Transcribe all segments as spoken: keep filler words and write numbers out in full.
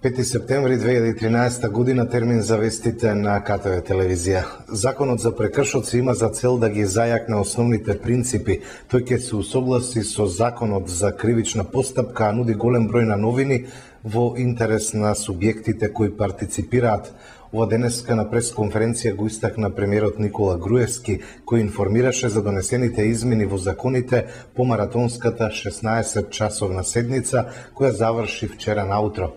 пети септември две илјади и тринаесетта година, термин за вестите на К Т В телевизија. Законот за прекршоци има за цел да ги зајакне основните принципи. Тој ќе се усогласи со Законот за кривична постапка, а нуди голем број на новини во интерес на субјектите кои партиципираат. Ова денеска на пресконференција го истакна премиерот Никола Груевски, кој информираше за донесените измени во законите по маратонската шеснаесет часовна седница, која заврши вчера наутро.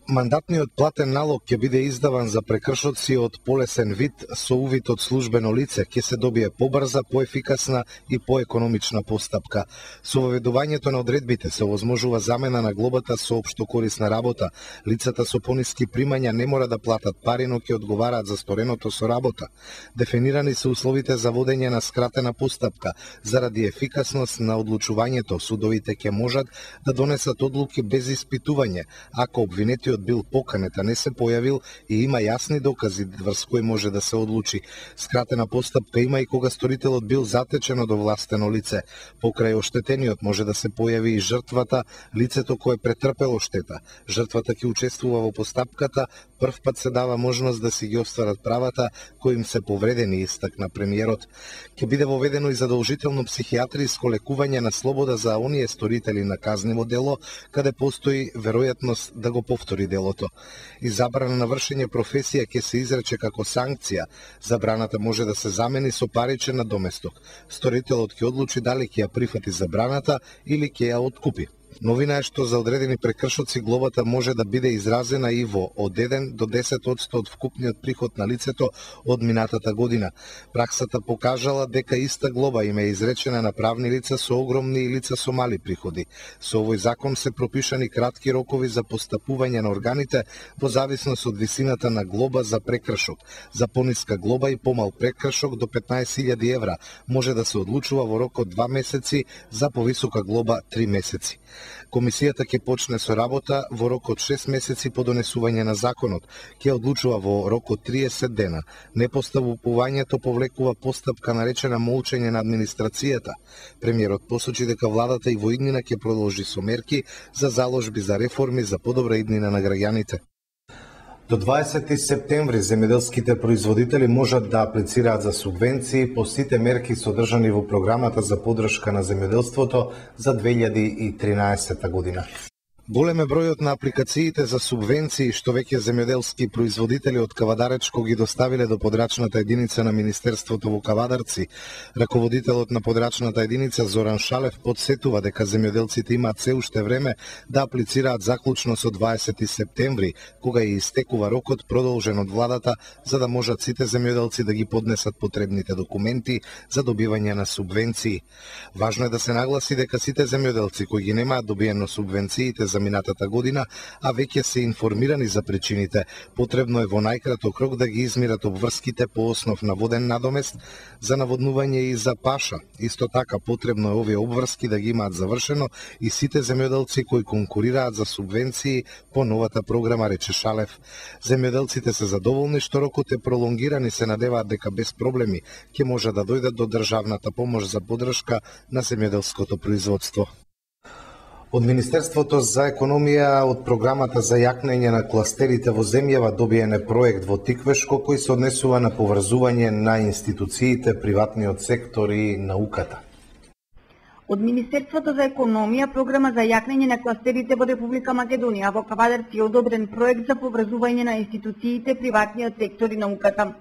Мандатниот платен налог ќе биде издаван за прекршоци од полесен вид со увид од службено лице, ќе се добие побрза, поефикасна и поекономична постапка. Со воведувањето на одредбите се овозможува замена на глобата со општо корисна работа. Лицата со пониски примања не мора да платат пари, но ќе одговараат за стореното со работа. Дефинирани се условите за водење на скратена постапка. Заради ефикасност на одлучувањето, судовите ќе можат да донесат одлуки без испитување, ако обвинетиот бил поканет, а не се појавил и има јасни докази врз кои може да се одлучи. Скратена постапка има и кога сторителот бил затечен од овластено лице. Покрај оштетениот може да се појави и жртвата, лицето кое претрпело штета. Жртвата ќе учествува во постапката, прв пат се дава можност да си ги остварат правата кои им се повредени, истакна премиерот. Ќе биде воведено и задолжително психијатриско лекување на слобода за оние сторители на казниво дело, каде постои веројатност да го повтори делото. И забрана на вршење професија ќе се изрече како санкција. Забраната може да се замени со паричен надоместок. Сторителот ќе одлучи дали ќе ја прифати забраната или ќе ја откупи. Новина е што за одредени прекршоци глобата може да биде изразена и во од еден до десет одсто од вкупниот приход на лицето од минатата година. Праксата покажала дека иста глоба им е изречена на правни лица со огромни и лица со мали приходи. Со овој закон се пропишани кратки рокови за постапување на органите во зависност од висината на глоба за прекршок. За пониска глоба и помал прекршок до петнаесет илјади евра може да се одлучува во рок од два месеци, за повисока глоба три месеци. Комисијата ќе почне со работа во рок од шест месеци по донесување на законот. Ќе одлучува во рок од триесет дена. Непостапувањето повлекува постапка наречена молчење на администрацијата. Премиерот посочи дека владата и во иднина ќе продолжи со мерки за заложби за реформи за подобра иднина на граѓаните. До дваесети септември земјоделските производители можат да аплицираат за субвенции по сите мерки содржани во програмата за поддршка на земјоделството за две илјади и тринаесетта година. Голем е бројот на апликациите за субвенции што веќе земјоделски производители од Кавадаречко ги доставиле до подрачната единица на Министерството во Кавадарци. Раководителот на подрачната единица Зоран Шалев подсетува дека земјоделците имаат се уште време да аплицираат заклучно со дваесети септември, кога ја истекува рокот продолжен од владата, за да можат сите земјоделци да ги поднесат потребните документи за добивање на субвенции. Важно е да се нагласи дека сите земјоделци кои ги немаат добиено субвенциите за минатата година, а веќе се информирани за причините, потребно е во најкраток рок да ги измират обврските по основ на воден надомест за наводнување и за паша. Исто така потребно е овие обврски да ги имаат завршено и сите земјоделци кои конкурираат за субвенции по новата програма, рече Шалев. Земјоделците се задоволни што рокот е пролонгиран и се надеваат дека без проблеми ќе може да дојдат до државната помош за поддршка на земјоделското производство. Од Министерството за економија од програмата за јакнење на кластерите во земјава добиен е проект во Тиквешко кој се однесува на поврзување на институциите, приватниот сектор и науката. Од Министерството за економија програма за јакнење на кластерите во Република Македонија во Кавадарци е одобрен проект за поврзување на институциите, приватниот сектор и науката.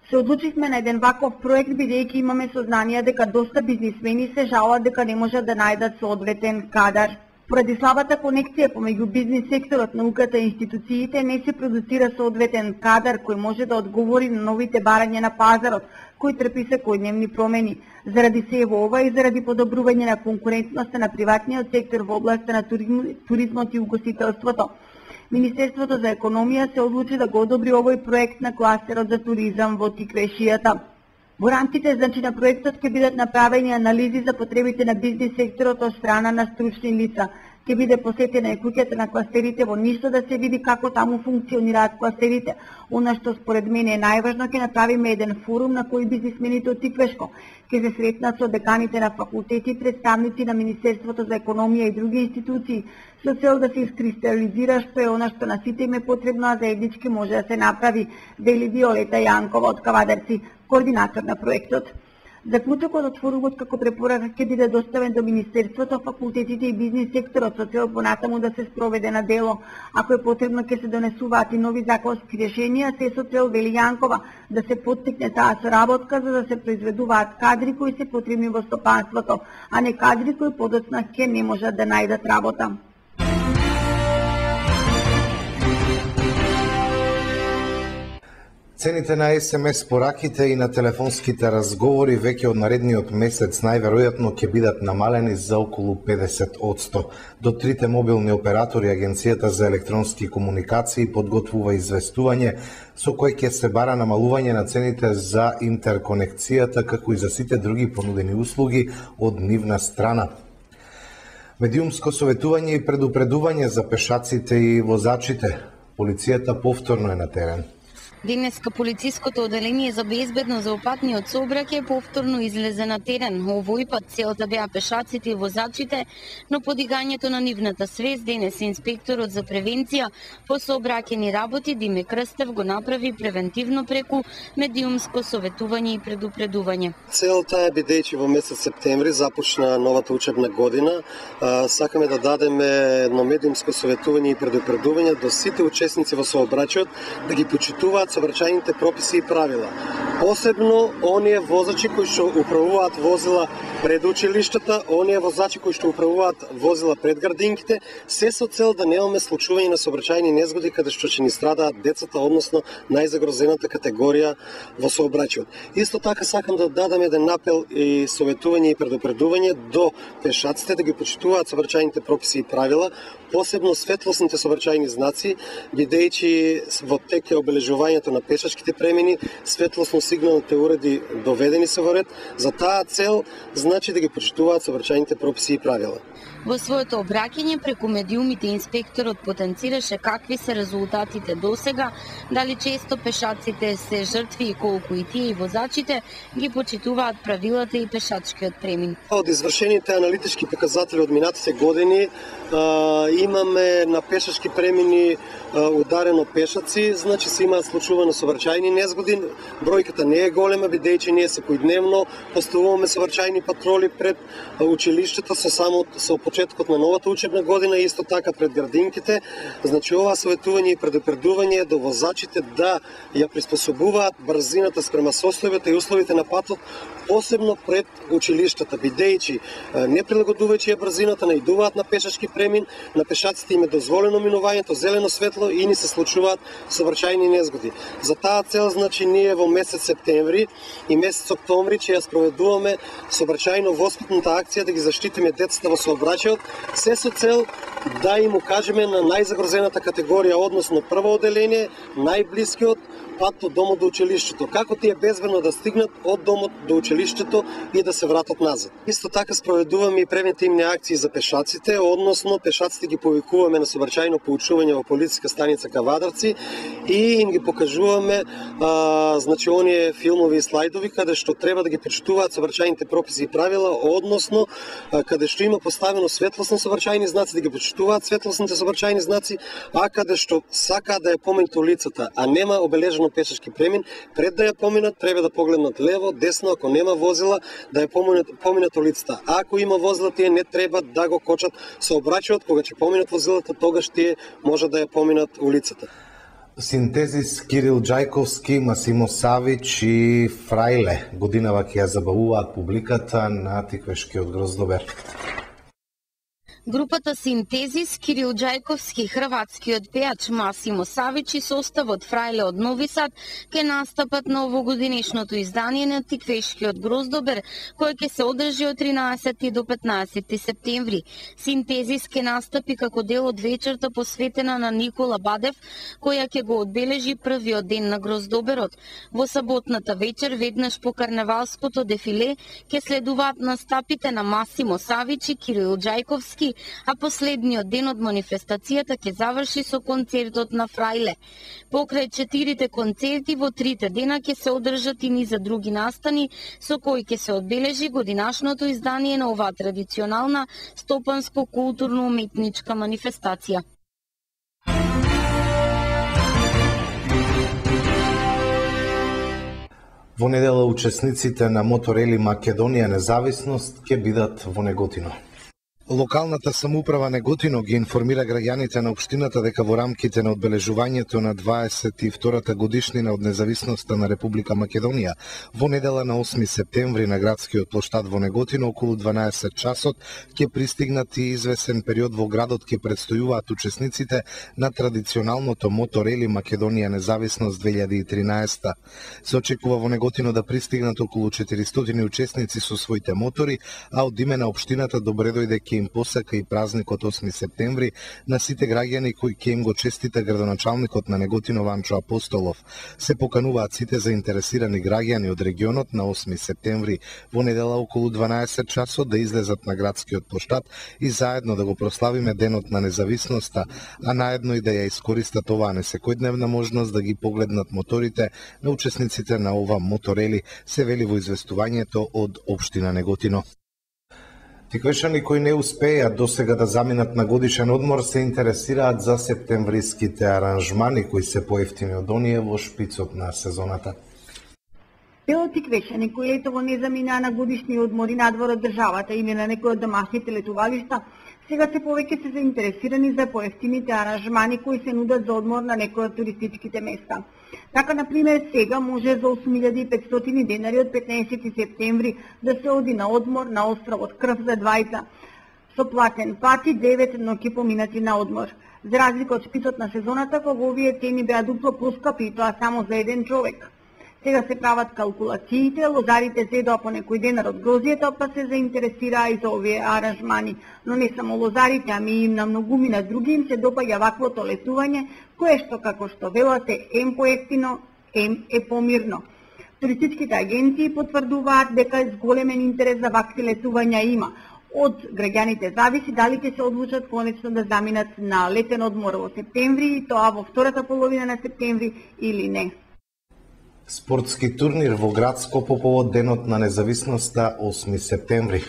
Се одлучивме на еден ваков проект бидејќи имаме сознание дека доста бизнисмени се жалат дека не можат да најдат соодветен кадар. Поради слабата конекција помеѓу бизнис секторот, науката и институциите не се продуцира соодветен кадар кој може да одговори на новите барања на пазарот, кој трпи секојдневни промени. Заради сево ова и заради подобрување на конкурентноста на приватниот сектор во областа на туризмот и угостителството, Министерството за економија се одлучи да го одобри овој проект на кластерот за туризам во Тиквешијата. Во рамките значи на проектот ќе бидат направени анализи за потребите на бизнис секторот од страна на стручни лица. Ќе биде посетена и куќата на кластерите во Ништа да се види како таму функционираат кластерите. Она што според мене е најважно, ќе направиме еден форум на кој бизнисмените од Тиквешко ќе се сретнат со деканите на факултети, представници на Министерството за економија и други институции, со цел да се искристализира што е она што на сите им е потребно, а заеднички може да се направи, вели Виолета Јанкова од Кавадарци, координатор на проектот. Заклучокот од форумот како препорака ќе биде доставен до Министерството, факултетите и бизнис секторот со цел понатаму да се спроведе на дело. Ако е потребно ќе се донесуваат и нови законски решенија, се со цел, вели Јанкова, да се поттикне таа соработка за да се произведуваат кадри кои се потребни во стопанството, а не кадри кои подоцна ќе не можат да најдат работа. Цените на ес ем ес пораките и на телефонските разговори веќе од наредниот месец најверојатно ќе бидат намалени за околу педесет одсто. До трите мобилни оператори Агенцијата за електронски комуникации подготвува известување со кој ќе се бара намалување на цените за интерконекцијата, како и за сите други понудени услуги од нивна страна. Медиумско советување и предупредување за пешаците и возачите. Полицијата повторно е на терен. Денеска полициското оделение за безбедност за патниот сообраќај повторно излезе на терен. Овој пат целта беа пешаците и возачите, но подигањето на нивната свест денес инспекторот за превенција по сообраќајни работи Диме Крстев го направи превентивно преку медиумско советување и предупредување. Целта е, бидејќи во месец септември започна новата учебна година, сакаме да дадеме едно медиумско советување и предупредување до сите учесници во сообраќајот да ги почитуваат сообраќајните прописи и правила. Посебно оние возачи кои што управуваат возила пред училиштата, оние возачи кои што управуваат возила пред градинките, се со цел да немаме случување на сообраќајни незгоди каде што ќе ни страдаат децата, односно најзагрозената категорија во сообраќајот. Исто така сакам да дадам еден апел и советување и предупредување до пешаците да ги почитуваат сообраќајните прописи и правила, посебно светлосните сообраќајни знаци, бидејќи во тек е обележувањето на пешачките премини, светлосно сигналните уреди доведени се во ред. За таа цел значи да ги почитуваат сообраќајните прописи и правила. Во своето обраќање преку медиумите инспекторот потенцираше какви се резултатите досега, дали често пешаците се жртви и колку и тие и возачите ги почитуваат правилата и пешачкиот премин. Од извршените аналитички показатели од минатите години имаме на пешачки премини ударено пешаци, значи се имаат случувано сообраќајни незгоди. Бројката не е голема, бидејќи ние секојдневно поставуваме сообраќајни патроли пред училиштата со само со почетокот на новата учебна година и исто така пред градинките. Значи ова советување и предупредување до возачите да ја приспособуваат брзината спрема состојбата и условите на патот, посебно пред училиштата, бидејќи не прилагодувајќи ја брзината наидуваат на пешачки премин, на пешаците им е дозволено минувањето зелено светло и ни се случуваат сообраќајни незгоди. За таа цел, значи, ние во месец септември и месец октомври ќе ја спроведуваме сообраќајно воспитната акција да ги заштитиме децата во сообраќајот, се со цел да им укажеме на најзагрозената категорија, односно прво оделение, најблискиот пат од домот до училиштето, како тие безбедно да стигнат од домот до училиштето и да се вратат назад. Исто така спроведуваме и превентивни акции за пешаците, односно пешаците ги повикуваме на сообраќајно поучување во полициска станица Кавадарци и им ги покажуваме а, значи оние филмови и слайдови каде што треба да ги почитуваат сообраќајните прописи и правила, односно а, каде што има поставено светлосни сообраќајни знаци да ги почитуваат светлосните сообраќајни знаци, а каде што сака да ја поминат улицата, а нема обележено пешачки премин, пред да ја поминат треба да погледнат лево, десно, ако нема возила да ја поминат, поминат улицата. А ако има возила, тие не треба да го кочат сообраќајот, кога ќе поминат возилата, тогаш тие може да ја поминат улицата. Синтезис Кирил Ѓајковски, Масимо Савич и Фрајле годинава ќе ја забавуваат публиката на Тиквешкиот Гроздобер. Групата Синтезис, Кирил Ѓајковски, хрватскиот пејач Масимо Савич и составот Фрајле од Нови Сад ќе настапат на овогодинешното издание на Тиквешкиот Гроздобер, кој ќе се одржи од тринаесети до петнаесети септември. Синтезис ќе настапи како дел од вечерта посветена на Никола Бадев, која ќе го одбележи првиот ден на Гроздоберот. Во саботната вечер, веднаш по карневалското дефиле, ќе следуваат настапите на Масимо Савич и Кирил Ѓајковски, учесници, а последниот ден од манифестацијата ќе заврши со концертот на Фрајле. Покрај четирите концерти во трите дена ќе се одржат и низа други настани со кои ќе се одбележи годинашното издание на оваа традиционална стопанско-културно-уметничка манифестација. Во недела учесниците на Моторели Македонија Независност ќе бидат во Неготино. Локалната самоуправа Неготино ги информира граѓаните на општината дека во рамките на одбележувањето на дваесет и втората годишнина од независноста на Република Македонија, во недела на осми септември на градскиот плоштад во Неготино околу дванаесет часот ќе пристигнат и извесен период во градот ќе предстојуваат учесниците на традиционалното Моторели Македонија Независност две илјади и тринаесета. Се очекува во Неготино да пристигнат околу четиристотини учесници со своите мотори, а од име на општината добре дојде ќе им посака и празникот осми септември на сите граѓани кои ќе им го честита градоначалникот на Неготино Ванчо Апостолов. Се покануваат сите заинтересирани граѓани од регионот на осми септември во недела околу дванаесет часот да излезат на градскиот плоштад и заедно да го прославиме денот на независноста, а наедно и да ја искористат оваа несекојдневна можност да ги погледнат моторите на учесниците на ова Моторели, се вели во известувањето од општина Неготино. Тиквешани кои не успеат досега да заминат на годишен одмор се интересираат за септемвриските аранжмани кои се поевтини од оние во шпицот на сезоната. Дел тиквешани кои летово не заминаа на годишни одмори надвор од државата или на некој од домашните летувалишта, сега се повеќе се заинтересирани за поевтините аранжмани кои се нудат за одмор на некои од туристичките места. Така, например, сега може за осум илјади и петстотини денари од петнаесети септември да се оди на одмор на островот Крв за двајца, со платен пат и девет ноќи поминати на одмор. За разлика од шпицот на сезоната, кога овие цени беа дупло поскапи и тоа само за еден човек. Сега се прават калкулациите, лозарите зедоа по некој денар од грозијата, па се заинтересираа и за овие аранжмани. Но не само лозарите, ами и на многумина други им се допаѓа ваквото летување, кое што, како што велат, е ем поевтино, ем е помирно. Туристичките агенции потврдуваат дека зголемен интерес за вакви летувања има. Од граѓаните зависи дали ќе се одлучат конечно да заминат на летен одмор во септември и тоа во втората половина на септември или не. Спортски турнир во Градско по повод денот на независноста осми септември.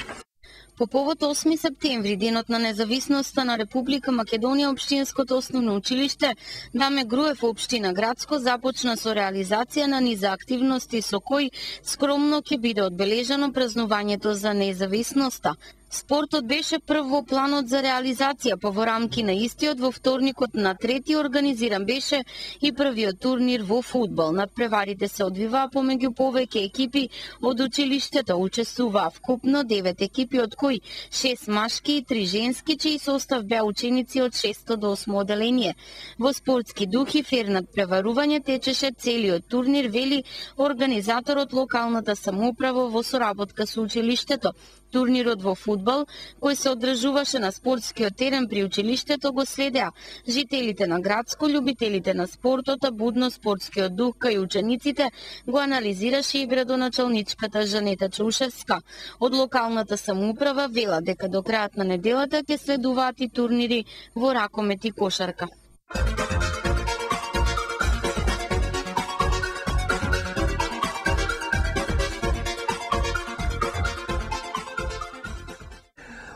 По повод осми септември, денот на независноста на Република Македонија, општинското основно училиште Даме Груев општина Градско започна со реализација на низа активности со кои скромно ќе биде одбележано празнувањето за независноста. Спортот беше прв во планот за реализација, па во рамки на истиот во вторникот на трети организиран беше и првиот турнир во фудбал. Надпреварите се одвиваа помеѓу повеќе екипи од училиштето, учествуваа вкупно девет екипи, од кои шест машки и три женски, чиј состав беа ученици од шесто до осмо оделение. Во спортски дух и фер надпреварување течеше целиот турнир, вели организаторот локалната самоуправа во соработка со училиштето. Турнирот во фудбал, кој се одржуваше на спортскиот терен при училиштето, го следеа жителите на Градско, љубителите на спортот, а будно спортскиот дух кај учениците го анализираше и градоначалничката Жанета Чаушевска. Од локалната самоуправа вела дека до крајот на неделата ќе следуваат и турнири во ракомет и кошарка.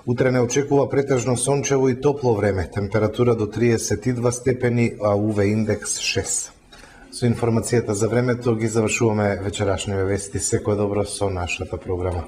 Утре не очекува претежно сончево и топло време, температура до триесет и два степени, а ю ви индекс шест. Со информацијата за времето ги завршуваме вечерашните вести. Секој добро со нашата програма.